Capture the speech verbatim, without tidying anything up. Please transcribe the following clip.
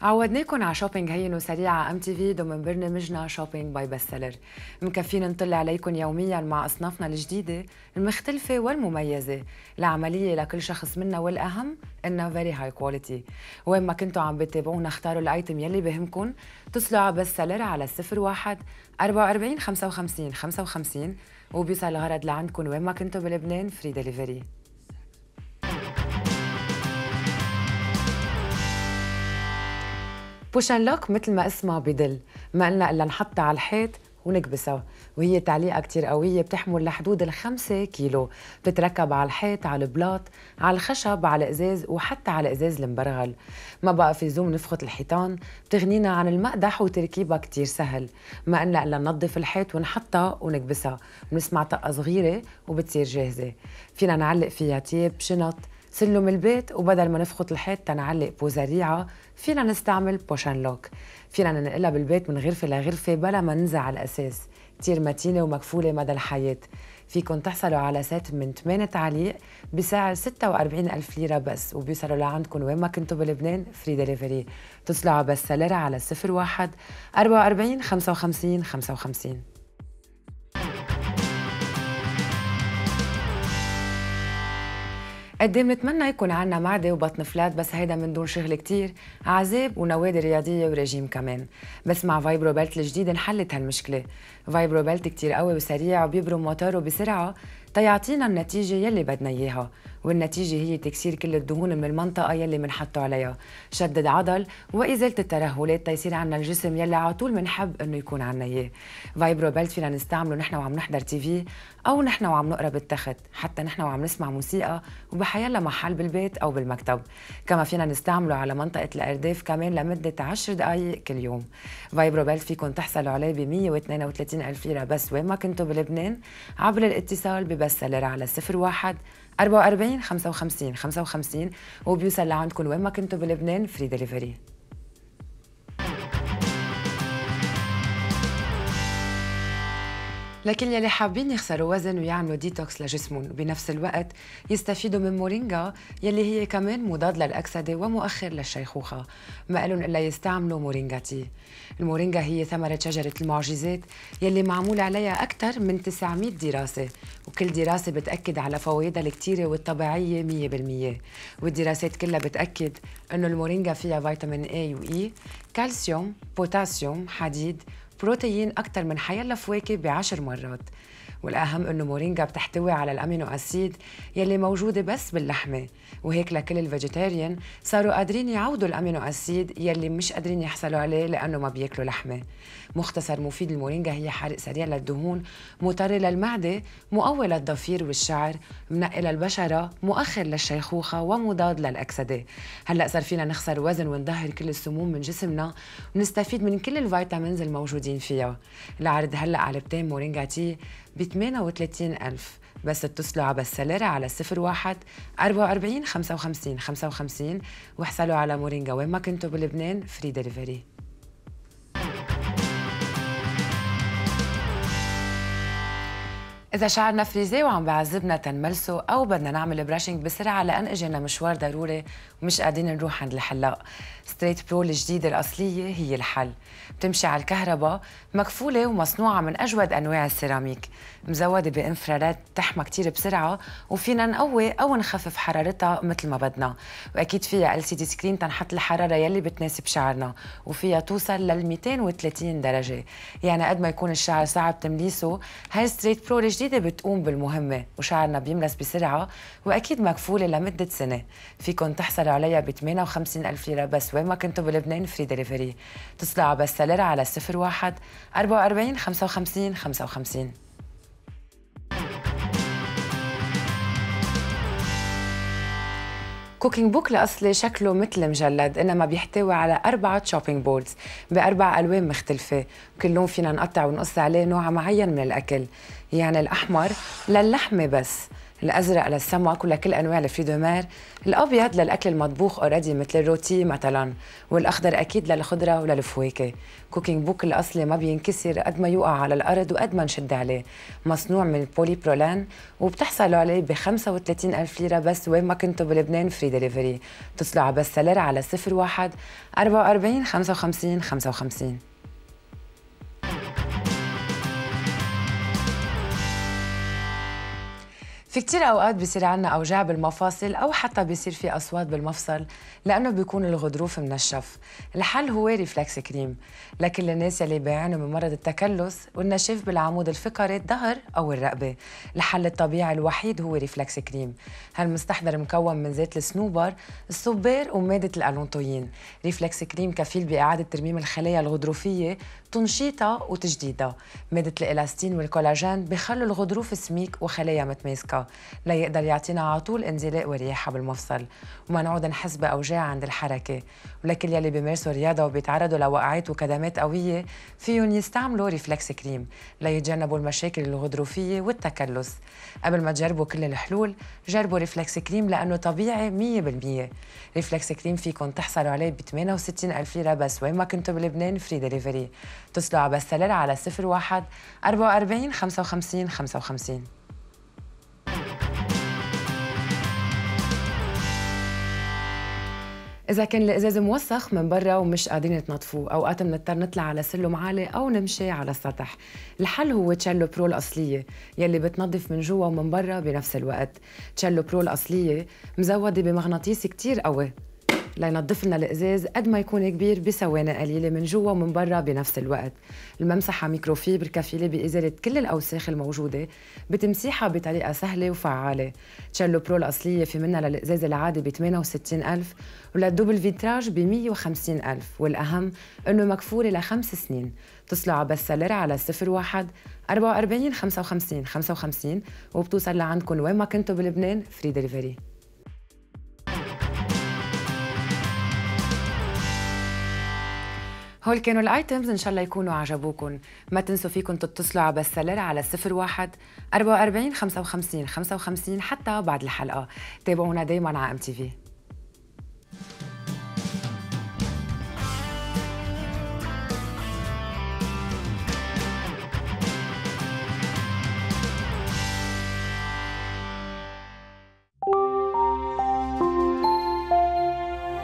عودناكم على شوبينج هين وسريع على ام تي في ضمن برنامجنا شوبينج باي بست سيلر. مكفينا نطل عليكم يوميا مع اصنافنا الجديده المختلفه والمميزه، العمليه لكل شخص منا والاهم انها فيري هاي كواليتي. وين ما كنتوا عم بتابعونا اختاروا الايتم يلي بهمكم، اتصلوا على بست سيلر على صفر واحد أربعة وأربعين خمسة وخمسين خمسة وخمسين وبيوصل الغرض لعندكم وين ما كنتوا بلبنان فري دليفري. بوش اند لوك مثل ما اسمها بدل، ما قلنا الا نحطها على الحيط ونكبسها، وهي تعليقه كتير قويه بتحمل لحدود الخمسة كيلو، بتتركب على الحيط، على البلاط، على الخشب، على الازاز، وحتى على ازاز المبرغل. ما بقى في زوم نفخت الحيطان، بتغنينا عن المقدح وتركيبها كتير سهل، ما قلنا الا ننظف الحيط ونحطها ونكبسها، بنسمع طقه صغيره وبتصير جاهزه. فينا نعلق فيها تياب، شنط، سلم البيت، وبدل ما نفخت الحيط تنعلق بوزاريعه فينا نستعمل بوش اند لوك. فينا ننقلها بالبيت من غرفه لغرفه بلا ما ننزع على الاساس، كتير متينه ومكفوله مدى الحياه. فيكن تحصلوا على سيت من ثمانية تعاليق بسعر ستة وأربعين ألف ليره بس، وبيوصلوا لعندكم وين ما كنتوا بلبنان فري دليفري. اتصلوا على بست سيلر على صفر واحد أربعة وأربعين خمسة وخمسين خمسة وخمسين. قد ايه بنتمنى يكون عنا معده وبطن فلات، بس هيدا من دون شغل كتير، عذاب ونوادي رياضيه ورجيم كمان. بس مع فايبرو بيلت الجديد انحلت هالمشكله. فايبرو بيلت كتير قوي وسريع وبيبرم موتوره بسرعه تيعطينا النتيجه يلي بدنا اياها، والنتيجه هي تكسير كل الدهون من المنطقه يلي منحطه عليها، شدد عضل وازاله الترهلات تيصير عنا الجسم يلي على طول بنحب انه يكون عنا اياه. فايبرو بيلت فينا نستعمله نحن وعم نحضر تي في او نحن وعم نقرا بالتخت، حتى نحن وعم نسمع موسيقى وبحيلا محل بالبيت او بالمكتب. كما فينا نستعمله على منطقه الارداف كمان لمده عشر دقائق كل يوم. فايبرو بيلت فيكم تحصلوا عليه ب مية واثنين وثلاثين ألف ليره بس وين ما كنتوا بلبنان عبر الاتصال ببست سيلر على صفر واحد أربعة وأربعين خمسة وخمسين خمسة وخمسين وبيوصل لعندكم وين ما كنتوا بلبنان فري دليفري. لكل يلي حابين يخسروا وزن ويعملوا ديتوكس لجسمهم وبنفس الوقت يستفيدوا من مورينجا يلي هي كمان مضاد للأكسدة ومؤخر للشيخوخة، ما إلهم إلا يستعملوا مورينجا تي. المورينجا هي ثمرة شجرة المعجزات يلي معمول عليها أكثر من تسعمية دراسة، وكل دراسة بتأكد على فوائدها الكتيرة والطبيعية مية بالمية، والدراسات كلها بتأكد إنه المورينجا فيها فيتامين A و E، كالسيوم، بوتاسيوم، حديد، بروتين أكثر من حيلا فواكه بعشر مرات. والأهم إنه مورينجا بتحتوي على الأمينو أسيد يلي موجودة بس باللحمة، وهيك لكل الفيجيتيريان صاروا قادرين يعوضوا الأمينو أسيد يلي مش قادرين يحصلوا عليه لأنه ما بياكلوا لحمة. مختصر مفيد المورينجا هي حرق سريع للدهون، مطري للمعدة، مقوي للضفير والشعر، منقي للبشرة، مؤخر للشيخوخة، ومضاد للأكسدة. هلأ صار فينا نخسر وزن ونظهر كل السموم من جسمنا ونستفيد من كل الفيتامينز الموجودين فيها. العرض هلأ علبتين مورينجا تي ب ثمانية وثلاثين ألف بس. اتصلوا على بست سيلر على صفر واحد أربعة وأربعين خمسة وخمسين خمسة وخمسين واحصلوا على مورينجا وين ما كنتوا بلبنان فري دليفري. إذا شعرنا فريزي وعم بعذبنا تنملسه أو بدنا نعمل براشنج بسرعة لأن إجينا مشوار ضروري ومش قادرين نروح عند الحلاق، ستريت برو الجديدة الأصلية هي الحل. بتمشي على الكهرباء، مكفولة ومصنوعة من أجود أنواع السيراميك، مزودة بإنفرارات بتحمى كتير بسرعة، وفينا نقوي أو نخفف حرارتها مثل ما بدنا، وأكيد فيها إل سي دي سكرين تنحط الحرارة يلي بتناسب شعرنا، وفيها توصل لل مئتين وثلاثين درجة. يعني قد ما يكون الشعر صعب تمليسه، هاي ستريت برو الجديدة بتقوم بالمهمة وشعرنا بيملس بسرعة، وأكيد مكفولة لمدة سنة. فيكن تحصلوا عليها ب ثمانية وخمسين ألف ليرة بس وين ما كنتوا بلبنان فري دليفري. اتصلوا على بست سيلر على صفر واحد أربعة وأربعين خمسة وخمسين خمسة وخمسين. كوكينج بوك الأصلي شكله مثل مجلد، إنما بيحتوي على أربعة شوبينج بوردز بأربع ألوان مختلفة، وكل لون فينا نقطع ونقص عليه نوع معين من الأكل. يعني الأحمر للحمة بس، الأزرق للسمك ولكل أنواع الفري دو مير، الأبيض للأكل المطبوخ أوريدي مثل الروتي مثلا، والأخضر أكيد للخضرة وللفواكه. كوكينج بوك الأصلي ما بينكسر قد ما يوقع على الأرض وقد ما نشد عليه، مصنوع من البولي برولان وبتحصلوا عليه ب خمسة وثلاثين ألف ليرة بس وين ما كنتوا بلبنان فري دليفري. اتصلوا على بس سيلر على صفر واحد أربعة وأربعين خمسة وخمسين خمسة وخمسين. في كتير أوقات بيصير عنا أوجاع بالمفاصل أو حتى بيصير في أصوات بالمفصل لأنه بيكون الغضروف منشف. الحل هو ريفلكس كريم لكل الناس يلي بيعانوا من مرض التكلس والنشاف بالعمود الفقري الظهر أو الرقبة. الحل الطبيعي الوحيد هو ريفلكس كريم. هالمستحضر مكون من زيت الصنوبر، الصبار ومادة الألونتوين. ريفلكس كريم كفيل بإعادة ترميم الخلايا الغضروفية، تنشيطها وتجديدها. مادة الإلاستين والكولاجين بيخلوا الغضروف سميك وخلايا متماسكة ليقدر يعطينا على طول انزلاق ورياحة بالمفصل وما نعود نحس بأوجاع عند الحركة. ولكل يلي بيمارسوا رياضة وبيتعرضوا لوقعات وكدمات قوية فيهم يستعملوا ريفلكس كريم ليتجنبوا المشاكل الغضروفية والتكلس. قبل ما تجربوا كل الحلول جربوا ريفلكس كريم لأنه طبيعي مية بالمية. ريفلكس كريم فيكم تحصلوا عليه ب ثمانية وستين ألف ليرة بس وين ما كنتوا بلبنان فري دليفري. اتصلوا على بس سيلر على صفر واحد أربعة وأربعين خمسة وخمسين خمسة وخمسين. إذا كان الإزاز موسخ من برا ومش قادرين تنظفوه، أوقات بنضطر نطلع على سلم عالي أو نمشي على السطح. الحل هو تشيلو برو الأصلية يلي بتنظف من جوا ومن برا بنفس الوقت. تشيلو برو الأصلية مزودة بمغناطيس كتير قوي لينظف لنا الإزاز قد ما يكون كبير بثواني قليلة من جوا ومن برا بنفس الوقت. الممسحة ميكروفيبر كفيلة بإزالة كل الأوساخ الموجودة بتمسيحها بطريقة سهلة وفعالة. تشيلو برو الأصلية في منها للإزاز العادي ب ثمانية وستين ألف وللدوبل فيتراج ب مية وخمسين ألف، والأهم إنه مكفورة لخمس سنين. اتصلوا على بس سيلر على صفر واحد أربعة وأربعين خمسة وخمسين خمسة وخمسين وبتوصل لعندكم وين ما كنتوا بلبنان فري دليفري. هول كانوا الايتمز، ان شاء الله يكونوا عجبوكم. ما تنسوا فيكم تتصلوا على بس سيلر على صفر واحد أربعة وأربعين خمسة وخمسين خمسة وخمسين حتى بعد الحلقه. تابعونا دايما على ام تي في.